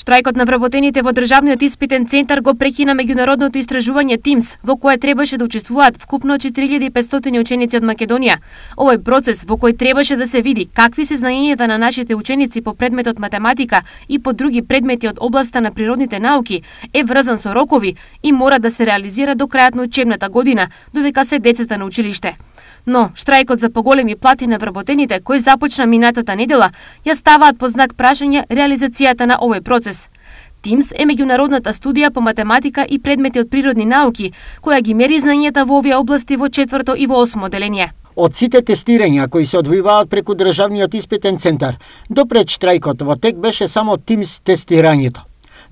Штрајкот на вработените во државниот испитен центар го прекина меѓународното истражување TIMSS, во кое требаше да учествуваат вкупно 4500 ученици од Македонија. Овој процес во кој требаше да се види какви се знаењата на нашите ученици по предметот математика и по други предмети од областа на природните науки е врзан со рокови и мора да се реализира до крајот на учебната година, додека се децата на училиште. Но штрајкот за поголеми плати на вработените, кој започна минатата недела, ја ставаат под знак прашање реализацијата на овој процес. TIMSS е меѓународната студија по математика и предмети од природни науки, која ги мери знаењата во овие области во 4 и во 8 оделение. Од сите тестирања кои се одвиваат преку државниот испитен центар, до пред штрајкот во тек беше само TIMSS тестирањето.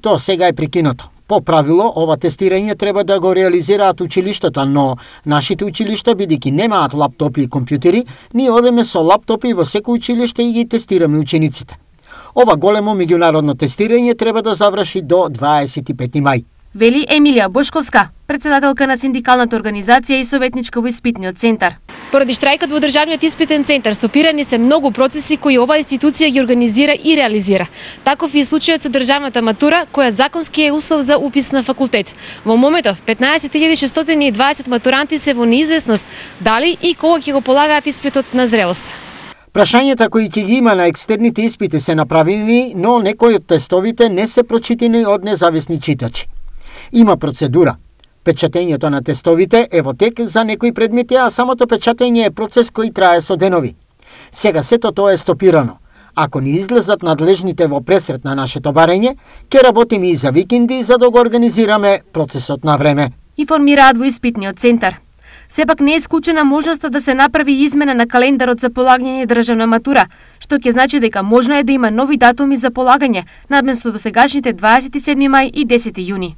Тоа сега е прекинато. По правило, ова тестирање треба да го реализираат училиштата, но нашите училишта, бидејќи немаат лаптопи и компјутери, ние одеме со лаптопи во секој училиште и ги тестираме учениците. Ова големо меѓународно тестирање треба да заврши до 25 мај. Вели Емилија Бошковска, председателка на синдикалната организација и советничка во испитниот центар. Поради штрајкот во државниот испитен центар стопирани се многу процеси кои оваа институција ги организира и реализира. Таков е и случајот со државната матура, која законски е услов за упис на факултет. Во моментов 15.620 матуранти се во неизвестност дали и кога ќе го полагаат испитот на зрелост. Прашањата кои ќе ги има на екстерните испити се направени, но некои од тестовите не се прочитани од независни читачи. Има процедура. Печатењето на тестовите е во тек за некои предмети, а самото печатење е процес кој трае со денови. Сега сето тоа е стопирано. Ако не излезат надлежните во пресрет на нашето барење, ќе работиме и за викенди за да го организираме процесот на време. Информираат во испитниот центар. Сепак не е исклучена можноста да се направи измена на календарот за полагање државна матура, што ќе значи дека можно е да има нови датуми за полагање, надместо досегашните 27 мај и 10 јуни.